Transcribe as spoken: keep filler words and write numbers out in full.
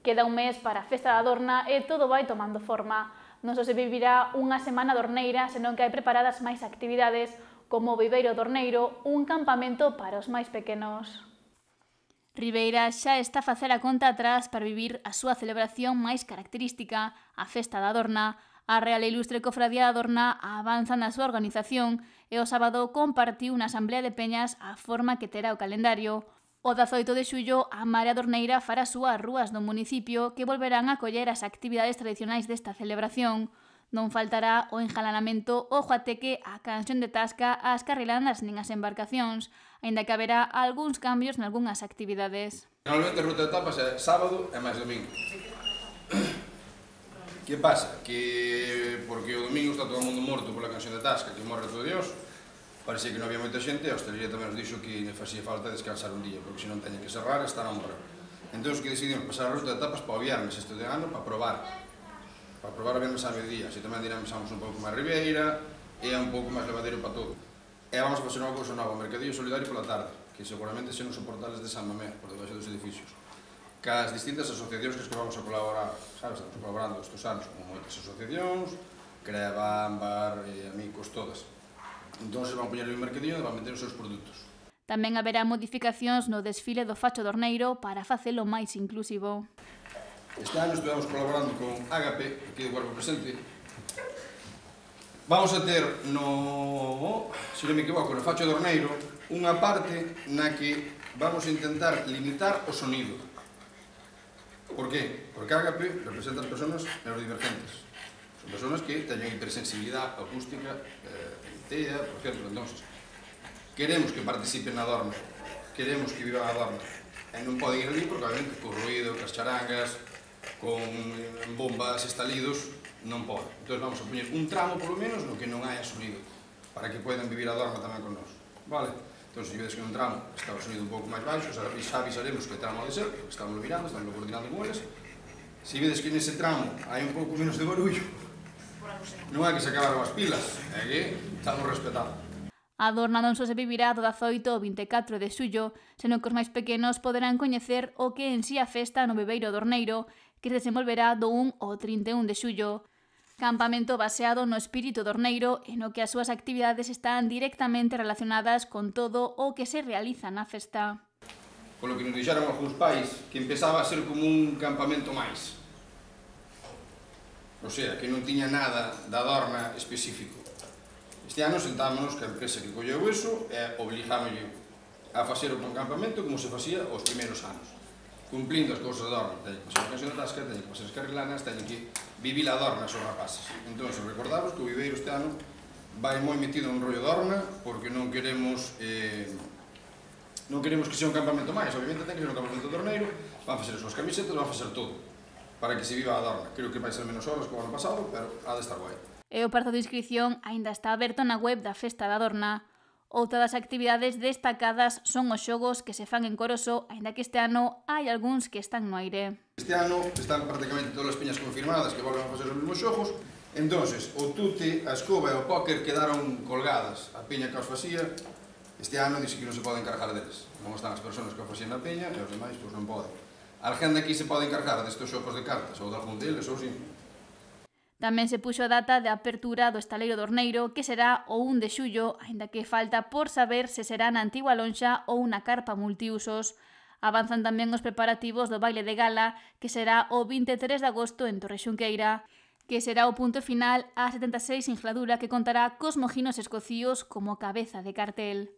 Queda un mes para a Festa da Adorna e todo vai tomando forma. Non só se vivirá unha semana dorneira, senón que hai preparadas máis actividades como o Viveiro Dorneiro, un campamento para os máis pequenos. Ribeira xa está a facer a conta atrás para vivir a súa celebración máis característica, a Festa da Adorna. A Real e Ilustre Cofradía da Adorna avanza na súa organización e o sábado compartiu na Asamblea de Peñas a forma que terá o calendario. O dezaoito de xullo, a Marea Dorneira fará as súas rúas do municipio que volverán a coller as actividades tradicionais desta celebración. Non faltará o enjalanamento, o juateque, a canción de tasca, as carrilanas nin as embarcacións, aínda que haberá algúns cambios nalgúnas actividades. Normalmente a ruta de tapas é sábado e máis domingo. Que pasa? Que porque o domingo está todo o mundo morto pola canción de tasca, que morre todo Dios, parece que non había moita xente, a hostelería tamén nos dixo que facía falta descansar un día, porque se non teñen que cerrar, están a morrer. Entón, que decidimos pasar a ruta de tapas para o viernes este de ano, para probar. Para probar a viernes a mediodía, así tamén dinamizamos un pouco máis Ribeira, e é un pouco máis levadeiro para todo. E vamos a facer unha cousa nova, o Mercadillo Solidario pola tarde, que seguramente se nos soportales de San Mamé, por debaixo dos edificios. Cas distintas asociacións que vamos a colaborar, sabes, estamos colaborando estes anos con moitas asociacións, Creva, Ámbar, eh, Amigos, todas. Entón, se van poñer no mercadillo e van meter os seus produtos. Tamén haberá modificacións no desfile do Facho Dorneiro para facelo máis inclusivo. Este ano estivemos colaborando con Ágape, aquí de Cuerpo Presente. Vamos a ter no, se non me equivoco, no Facho Dorneiro, unha parte na que vamos a intentar limitar o sonido. Por qué? Porque Ágape representa as persoas neurodivergentes. Son persoas que teñen hipersensibilidade acústica, eh, T E A, por exemplo. Entón, queremos que participen na Adorna, queremos que vivan a Adorna. E non poden ir ali porque, obviamente, con ruido, cas charangas, con bombas, estalidos, non poden. Entón, vamos a poñer un tramo, polo menos, no que non haya sonido, para que podan vivir a Adorna tamén con nós. Vale? Entón, se vedes que un tramo está o sonido un pouco máis baixo, xa avisaremos que tramo ha de ser, porque estamos mirando, estamos coordinando con eles. Se vedes que nese tramo hai un pouco menos de barullo, non hai que se acabaron as pilas, é que estamos respetando. A Adorna non só se vivirá do dezaoito ao vinte e catro de xullo, senón que os máis pequenos poderán coñecer o que en si a festa no Viveiro Dorneiro, que se desenvolverá do un ao trinta e un de xullo. Campamento baseado no espírito dorneiro e no que as súas actividades están directamente relacionadas con todo o que se realiza na festa. Polo que nos dixeron algúns pais, que empezaba a ser como un campamento máis. O sea, que non tiña nada da Adorna específico. Este ano sentámonos que a empresa que colleu iso e obligámoslle a facer un campamento como se facía os primeiros anos. Cumplindo as cousas da Adorna, teñen que pasar a canción de tasca, teñen que pasar as carrilanas, teñen que vivir a Adorna os rapaces. Entón, recordamos que o Viveiro este ano vai moi metido en rollo de Adorna, porque non queremos eh, non queremos que sea un campamento máis, obviamente ten que ser un campamento dorneiro, van facer as súas camisetas, van facer todo, para que se viva a Adorna. Creo que vai ser menos horas que o ano pasado, pero ha de estar guai. E o prazo de inscripción aínda está aberto na web da Festa da Adorna. Outra das actividades destacadas son os xogos que se fan en Coroso, aínda que este ano hai algúns que están no aire. Este ano están prácticamente todas as peñas confirmadas que volven a facer os mesmos xogos. Entonces, o tute, a escoba e o póker quedaron colgadas. A peña que os facía, este ano dixe que non se pode encargar deles. Non están as persoas que os facían na peña e os demais pois non poden. Alguén daqui se pode encargar destes xogos de cartas ou de algún deles ou si. Tamén se puxo a data de apertura do Estaleiro Dorneiro, que será o un de xullo, aínda que falta por saber se será na antigua lonxa ou na carpa multiusos. Avanzan tamén os preparativos do baile de gala, que será o vinte e tres de agosto en Torrexunqueira, que será o punto final á setenta e seis Ingeladura, que contará cos mojinos escocíos como cabeza de cartel.